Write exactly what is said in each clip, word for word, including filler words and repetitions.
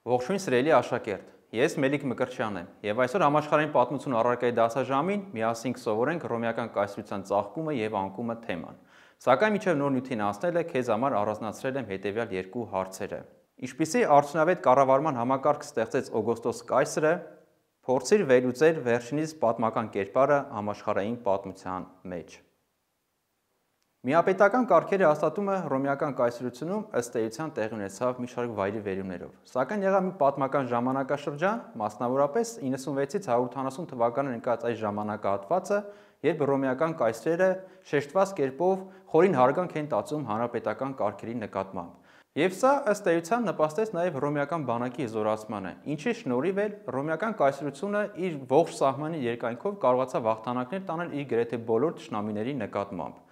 Ողջույն սիրելի աշակերտ, ես Մելիք Մկրտչյանն եմ եւ այսօր համաշխարհային պատմություն առարկայի դասաժամին միասին կսովորենք հռոմեական կայսրության ծաղկումը եւ անկումը թեման։ Սակայն մինչեւ նոր նյութին անցնելը քեզ համար առանձնացրել եմ հետեւյալ երկու հարցերը։ Ինչպիսի արդյունավետ կառավարման համակարգ ստեղծեց Օգոստոս կայսրը, փորձիր վերլուծել վերջինիս պատմական կերպարը համաշխարհային պատմության մեջ։ Միապետական կարգերի հաստատումը հռոմեական կայսրությունում ըստ էության տեղի ունեցավ մի շարք վայրի վերումներով, սակայն եղավ մի պատմական ժամանակաշրջան, մասնավորապես իննսունվեցից հարյուր ութանասուն թվականներ ընկած այս ժամանակահատվածը, երբ հռոմեական կայսրերը շեշտված կերպով խորին հարգանք են տածում հանրապետական կարգերի նկատմամբ։ Եվ սա ըստ էության նպաստեց նաև հռոմեական բանակի զորացմանը, ինչի շնորհիվ էլ հռոմեական կայսրությունը իր ողջ սահմանի երկայնքով կարողացավ հաղթանակներ տանել իր գրեթե բոլոր թշնամիների նկատմամբ։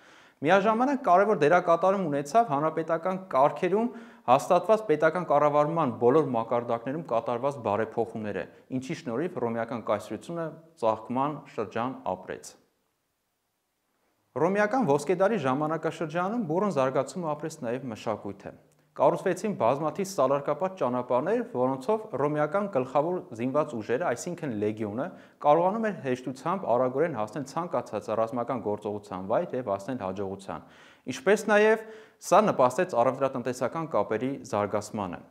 Միաժամանակ կարևոր դերակատարում ունեցավ հանրապետական կարգերում հաստատված պետական կառավարման բոլոր մակարդակներում կատարված բարեփոխումները, ինչի շնորհիվ հռոմեական կայսրությունը ծաղկման շրջան ապրեց։ Հռոմեական ոսկեդարի ժամանակաշրջանում բուռն զարգացում ապրեց նաև մշակույթը։ Կառուցվեցին բազմաթիվ սալարկապատ ճանապարհներ, որոնցով հռոմեական գլխավոր զինված ուժերը, այսինքն լեգիոնը, կարողանում էր հեշտությամբ արագորեն հասնել ցանկացած ռազմական գործողության վայր եւ հասնել հաջողության, ինչպես նաեւ սա նպաստեց առևտրատնտեսական կապերի զարգացմանը։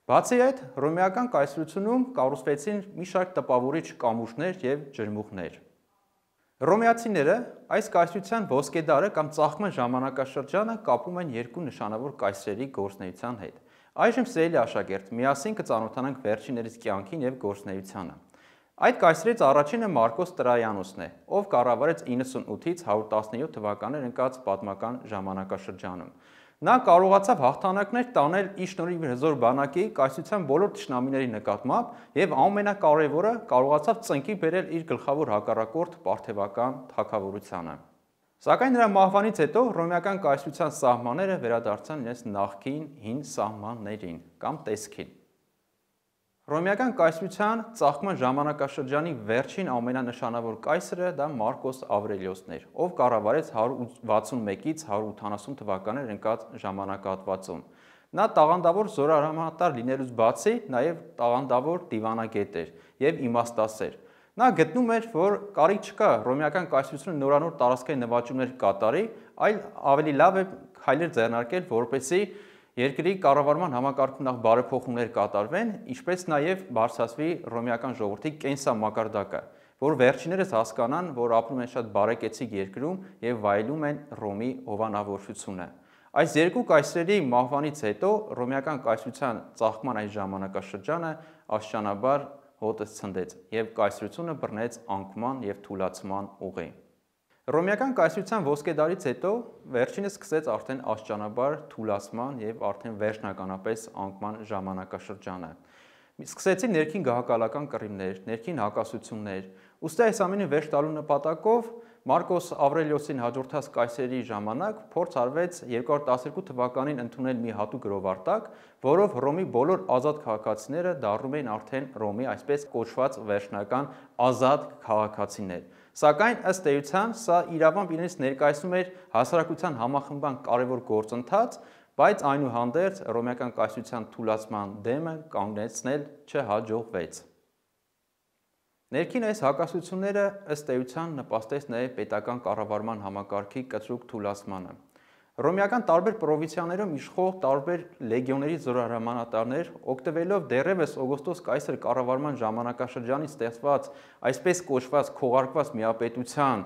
Բացի այդ, հռոմեական կայսրությունում կառուցվեցին մի շարք տպավորիչ կամուրջներ եւ ջրմուղներ։ Հռոմեացիները այս կայսրության ոսկեդարը կամ ծաղկման ժամանակաշրջանը կապում են երկու նշանավոր կայսրերի գործունեության հետ։ Այժմ սիրելի աշակերտ, միասին կծանոթանանք վերջիններիս կյանքին եւ գործունեությանը։ Այդ կայսրից առաջինը Մարկոս Տրայանոսն է, ով կառավարեց իննսունութից հարյուր տասնյոթ թվականներ ընկած պատմական ժամանակաշրջանում։ Նա կարողացավ հաղթանակներ տանել իր շնորհիվ իր հզոր բանակի կայսրության բոլոր թշնամիների նկատմամբ եւ ամենակարևորը կարողացավ ծնկի բերել իր գլխավոր հակառակորդ Պարթևական թագավորությանը։ Սակայն նրա մահվանից հետո հռոմեական կայսրության սահմանները վերադարձան իրենց նախկին հին սահմաններին կամ տեսքին։ Հռոմեական կայսրության ծաղկման ժամանակաշրջանի վերջին ամենանշանավոր կայսրը դա Մարկոս Ավրելիոսն էր, ով կառավարեց հարյուր վաթսունմեկից հարյուր ութանասուն թվականներ ընկած ժամանակահատվածում։ Նա տաղանդավոր զորահրամանատար լինելուց բացի նաև տաղանդավոր դիվանագետ էր եւ իմաստասեր։ Նա գտնում էր, որ կարիք չկա հռոմեական կայսրությունը նորանոր տարածքային նվաճումներ կատարի, այլ ավելի լավ է քայլեր ձեռնարկել, որպեսզի երկրի կառավարման համակարգում նախ բարեփոխումներ կատարվեն, ինչպես նաև բարձրացվի հռոմեական ժողովրդի կենսամակարդակը, որ վերջիներս հասկանան, որ ապրում են շատ բարեկեցիկ երկրում եւ վայելում են Հռոմի հովանավորությունը։ Այս երկու կայսրերի մահվանից հետո հռոմեական կայսրության ծաղկման այս ժամանակաշրջանը աստիճանաբար հոտը ցնդեց եւ կայսրությունը բռնեց անկման եւ թուլացման ուղի։ Հռոմեական կայսրության ոսկեդարից հետո վերջինս սկսեց արդեն աստիճանաբար թուլացման եւ արդեն վերջնականապես անկման ժամանակաշրջանը։ Սկսեցին ներքին գահակալական կռիվներ, ներքին հակասություններ։ Ուստի այս ամենին վերջ տալու նպատակով Մարկոս Ավրելիոսին հաջորդած կայսրերի ժամանակ փորձ արվեց երկու հազար տասներկու թվականին ընդունել մի հատուկ գրովարտակ, որով Հռոմի բոլոր ազատ քաղաքացիները դառնում էին արդեն Հռոմի այսպես կոչված վերջնական ազատ քաղաքացիներ։ Սակայն ըստ էության սա իրավամբ իրենից ներկայացնում էր հասարակության համախմբման կարևոր գործընթաց, բայց այնուհանդերձ հռոմեական կայսրության թուլացման դեմը կանգնեցնել չհաջողվեց։ Ներքին այս հակասությունները ըստ էության նպաստեց նաև պետական կառավարման համակարգի կտրուկ թուլացմանը։ Հռոմեական տարբեր պրովինցիաներում իշխող տարբեր լեգիոնների զորահրամանատարներ, օգտվելով դեռևս Օգոստոս կայսր կառավարման ժամանակաշրջանից ստեղծված այսպես կոչված քողարկված միապետության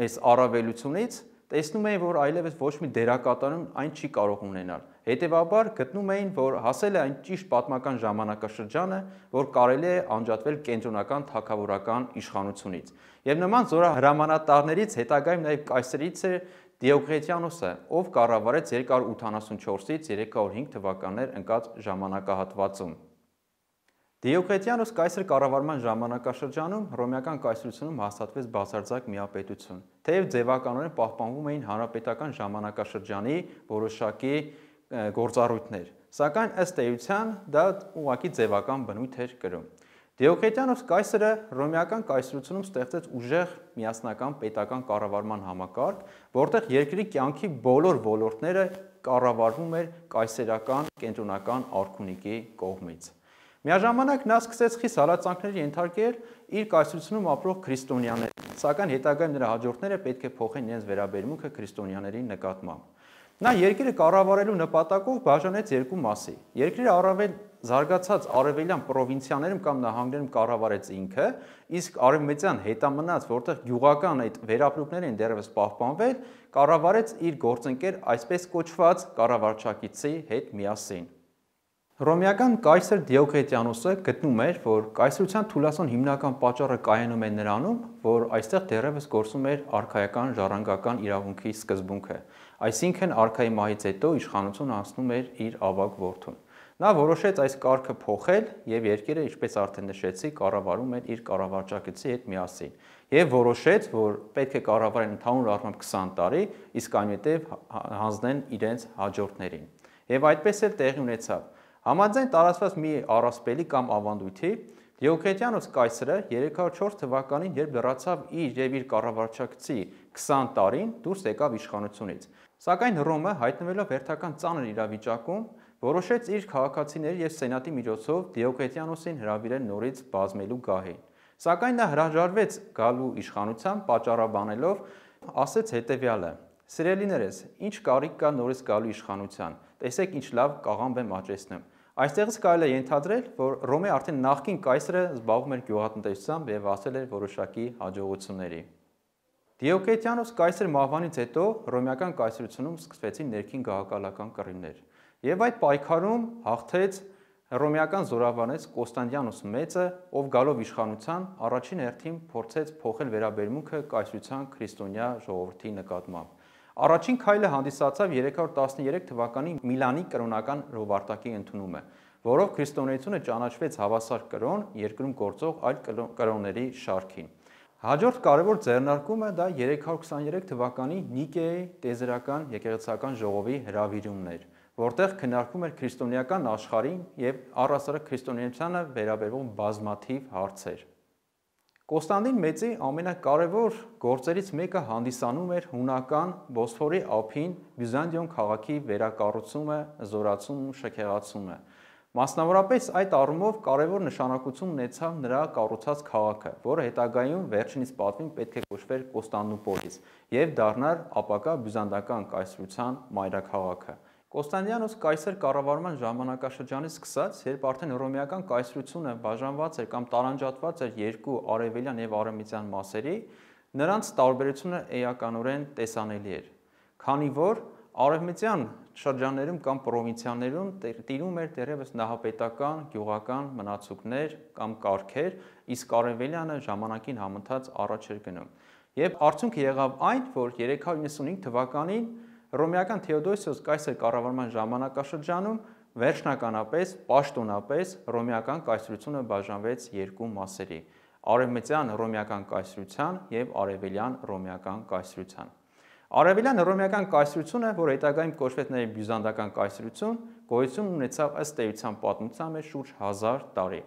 այս առավելությունից, տեսնում էին, որ այլևս ոչ մի դերակատարում այն չի կարող ունենալ։ Հետևաբար գտնում էին, որ հասել է այն ճիշտ պատմական ժամանակաշրջանը, որ կարելի է անջատվել կենտրոնական թագավորական իշխանությունից։ Եվ նման զորահրամանատարներից հետագայում նաև կայսրից է Դիոկլետիանոսը, ով կառավարեց երկու հարյուր ութանասունչորսից երեք հարյուր հինգ թվականներ ընկած ժամանակահատվածում։ Դիոկլետիանոս կայսր կառավարման ժամանակաշրջանում հռոմեական կայսրությունում հաստատվեց բացարձակ միապետություն, թեև ձևականորեն պահպանվում էին հանրապետական ժամանակաշրջանի որոշակի գործառույթներ, սակայն ըստ էության դա ուղղակի ձևական բնույթ էր կրում։ Դիոկլետիանոս կայսրը հռոմեական կայսրությունում ստեղծեց ուժեղ միասնական պետական կառավարման համակարգ, որտեղ երկրի կյանքի բոլոր ոլորտները կառավարվում էր կայսերական կենտրոնական արքունիքի կողմից։ Միաժամանակ նա սկսեց խիստ հալածանքների ենթարկել իր կայսրությունում ապրող քրիստոնյաներ, սակայն հետագայում նրա հաջորդները պետք է փոխեն իրենց վերաբերմունքը քրիստոնյաների նկատմամբ։ Նա երկիրը կառավարելու նպատակով բաժանեց երկու մասի։ Երկիրը առավել զարգացած արևելյան պրովինցիաներում կամ նահանգներում կառավարեց ինքը, իսկ արևմտյան հետամնաց, որտեղ գյուղական այդ վերապրուկներ են դեռևս պահպանվել, կառավարեց իր գործընկեր այսպես կոչված կառավարչակիցի հետ միասին։ Հռոմեական կայսր Դիոկլետիանոսը գտնում էր, որ կայսրության թուլացման հիմնական պատճառը կայանում է նրանում, որ այստեղ դեռևս գործում էր արքայական ժառանգական իրավունքի սկզբունքը, այսինքն արքայի մահից հետո իշխանությունը անցնում էր իր ավագ որդուն։ Նա որոշեց այս կարգը փոխել եւ երկիրը, ինչպես արդեն նշեցի, կառավարում էր իր կառավարչակիցի հետ միասին եւ որոշեց, որ պետք է կառավարեն ընդհանուր առմամբ քսան տարի, իսկ այնուհետեւ հանձնեն իրենց հաջորդներին։ Եվ այդպես էլ տեղի ունեցավ։ Համաձայն տարածված մի առասպելի կամ ավանդույթի, Դիոկլետիանոս կայսրը երեք հարյուր չորս թվականին, երբ լրացավ իր եւ իր կառավարչակցի քսան տարին, դուրս եկավ իշխանությունից։ Սակայն Հռոմը, հայտնվելով հերթական ծանր իրավիճակում, որոշեց իր քաղաքացիների եւ սենատի միջոցով Դիոկլետիանոսին հրավիրել նորից բազմելու գահին։ Սակայն նա հրաժարվեց գալու իշխանության, պատճառաբանելով, ասեց հետեւյալը. «Սիրելիներս, ինչ կարիք կա նորից գալու իշխանության, տեսեք ինչ լավ կաղամբ եմ աճեցնում»։ Այստեղից կարելի է ենթադրել, որ Հռոմի արդեն նախկին կայսրը զբաղվում էր գյուղատնտեսությամբ եւ հասել էր որոշակի հաջողությունների։ Դիոկլետիանոս կայսր մահվանից հետո հռոմեական կայսրությունում սկսվեցին ներքին գահակալական կռիվներ, եւ այդ պայքարում հաղթեց հռոմեական զորավարներից Կոստանդիանոս մեծը, ով գալով իշխանության առաջին հերթին փորձեց փոխել վերաբերմունքը կայսրության քրիստոնյա ժողովրդի նկատմամբ։ Առաջին քայլը հանդիսացավ երեք հարյուր տասներեք թվականի Միլանի կրոնական հրովարտակի ընդունումը, որով քրիստոնեությունը ճանաչվեց հավասար կրոն երկրում գործող այլ կրոնների շարքին։ Հաջորդ կարևոր ձեռնարկումը դա երեք հարյուր քսաներեք թվականի Նիկեայի տեզերական եկեղեցական ժողովի հրավիրումն էր, որտեղ քննարկվում էր քրիստոնեական աշխարհին եւ առհասարակ քրիստոնեությանը վերաբերող բազմաթիվ հարցեր։ Կոստանդին մեծի ամենակարևոր գործերից մեկը հանդիսանում էր հունական Բոսֆորի ափին Բյուզանդիոն քաղաքի վերակառուցումը, զորացումն ու շքեղացումը։ Մասնավորապես այդ առումով կարևոր նշանակություն ունեցավ նրա կառուցած քաղաքը, որը հետագայում վերջինիս պատվին պետք է կոչվեր Կոստանդնուպոլիս եւ դառնար ապագա բյուզանդական կայսրության մայրաքաղաքը։ Կոստանդիանոս կայսր կառավարման ժամանակաշրջանից սկսած, երբ արդեն հռոմեական կայսրությունը բաժանված էր կամ տարանջատված էր երկու արևելյան եւ արևմտյան մասերի, նրանց տարբերությունը էականորեն տեսանելի էր, քանի որ արևմտյան շրջաններում կամ պրովինցիաներում տիրում էր դեռևս նահապետական, գյուղական մնացուկներ կամ կարգեր, իսկ արևելյանը ժամանակին համընթաց առաջ էր գնում։ Եվ արդյունքը եղավ այն, որ երեք հարյուր նվաթ թվականին հռոմեական Թեոդոսիոս կայսր կառավարման ժամանակաշրջանում վերջնականապես, պաշտոնապես հռոմեական կայսրությունը բաժանվեց երկու մասերի՝ արևմտյան հռոմեական կայսրության եւ արևելյան հռոմեական կայսրության։ Արևելյան հռոմեական կայսրությունը, որ հետագայում կոչվեց նաեւ բյուզանդական կայսրություն, գոյություն ունեցավ ըստ էության պատմության մեջ շուրջ հազար տարի։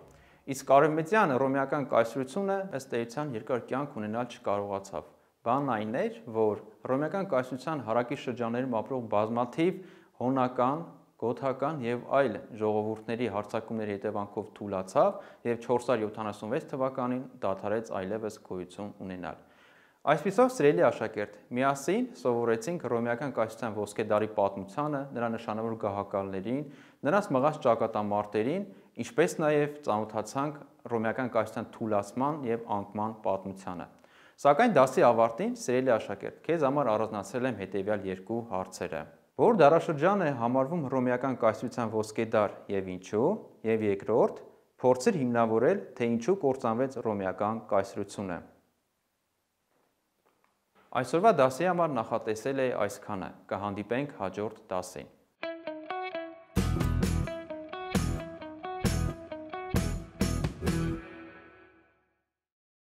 Իսկ արևմտյան հռոմեական կայսրությունը ըստ էության երկար կյանք ունենալ չկարողացավ։ Բանն այն էր, որ հռոմեական կայսրության հարակի շրջաններում ապրող բազմաթիվ հոնական, գոթական եւ այլ ժողովուրդների հարձակումների հետևանքով թուլացավ եւ չորս հարյուր յոթանասունվեց թվականին դադարեց այլևս գոյություն ունենալ։ Այսպիսով, սիրելի աշակերտ, միասին սովորեցինք հռոմեական կայսրության ոսկե դարի պատմությանը, նրա նշանավոր գահակալներին, նրանց մղած ճակատամարտերին, ինչպես նաեւ ծանոթացանք հռոմեական կայսրության թուլացման եւ անկման պատմությանը։ Սակայն դասի ավարտին, սիրելի աշակերտ, քեզ համար առանձնացրել եմ հետևյալ երկու հարցերը. Որ դարաշրջան է համարվում հռոմեական կայսրության ոսկե դար եւ ինչու, եւ երկրորդ, փորձիր հիմնավորել, թե ինչու կործանվեց հռոմեական կայսրությունը։ Այսօրվա դասի համար նախատեսել է այսքանը, կհանդիպենք հաջորդ դասին։